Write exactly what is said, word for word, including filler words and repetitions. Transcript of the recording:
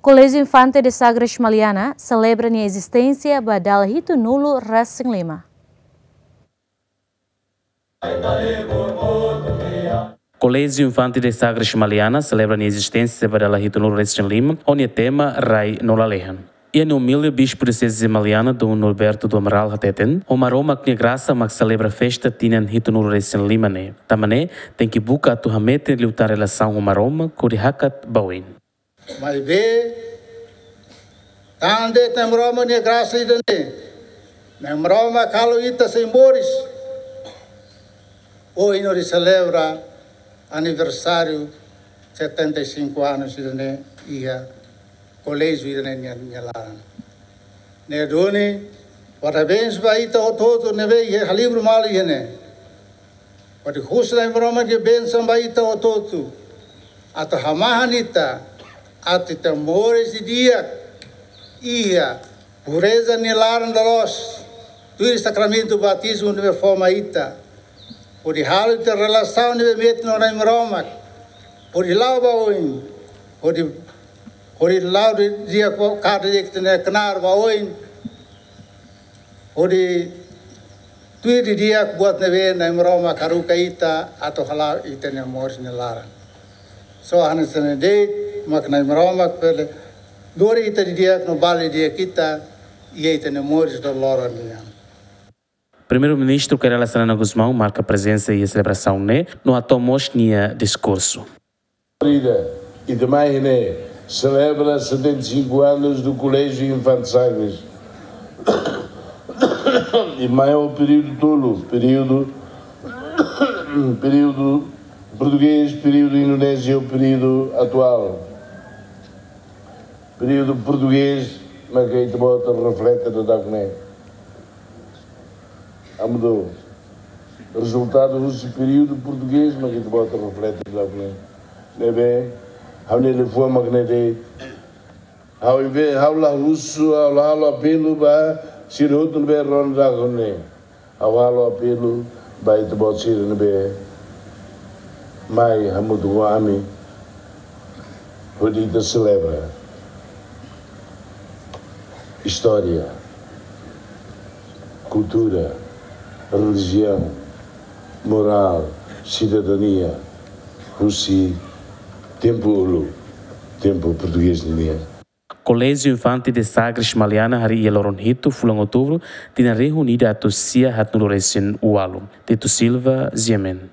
Koléjiu Infante de Sagres Maliana selebra nia ezisténsia ba dala hitunulu resin lima. Koléjiu Infante de Sagres Maliana selebra nia ezisténsia ba dala hitunulu resin lima, ho nia tema Rai no Lalehan. Iha nia umilde, Bispu Dioseze Maliana, Dom Norberto do Amaral, hateten, ho Maromak nia grasa mak selebra festa tinan hitunulu resin lima ne'e. Tanba ne'e, tenke buka atu hametin liután relasaun ho Maromak hodi hakat ba oin. Maibé, tanba de'it Nai Maromak nia grasa ida-ne'e, Nai Maromak halo ita sei moris. Ohin hodi selebra aniversáriu setenta e cinco anos ida-ne'e iha koléjiu ida-ne'e nia, nia laran. Ne'e duni, parabéns ba ita hotu-hotu ne'ebé iha halibur malu iha ne'e. Hodi husu Nai Maromak nia bensaun ba ita hotu-hotu. Atu hamahan ita, atu ita moris didi'ak iha pureza nia laran loloos, tuir sakramentu batizmu ne'ebé fó mai ita. Hodi halo ita relasaun ne'ebé metin ho Nai Maromak. Hodi la'o ba oin. Hodi, hodi la'o didi'ak ba, kada di'ak ita-nia knaar ba oin. Hodi tuir didi'ak buat ne'ebé Nai Maromak haruka ita atu hala'o ita-nia moris nia laran. Só hanesan ne'e de'it mak Nai Maromak bele lori ita didi'ak no bali didi'ak ita iha ita-nia moris loroloron nian. Primeiru-Ministru Kay Rala Xanana Gusmão marka prezensa iha selebrasaun ne'e no hato'o mós nia diskursu. Ida, ita mai ne'e selebra setenta e cinco anos do Colégio Infante Sagres. I mai ho períodu tolu, períodu, períodu portugés, períodu indonéziu, períodu atuál. Períodu portugés, mak ita-boot reflete daudauk ne'e. Ami-nia rezultadu husi períodu portugés mak ita-boot reflete daudauk ne'e. Ne'ebé, ha'u-nia liafuan mak ne'e de'it. Ha'u invés, ha'u la husu, ha'u la halo apelu ba sira hotu ne'ebé rona daudauk ne'e. Ha'u halo apelu ba ita-boot sira ne'ebé mai hamutuk ho ami hodi ita selebra istória, kultura, relijiaun, morál, sidadania, husi tempu uluk, tempu portugés nian. Koléjiu Infante de Sagres Maliana harii iha loron hitu fulan Outubru tinan rihun ida atus sia haatnulu resin ualu. Tito Silva, G M N.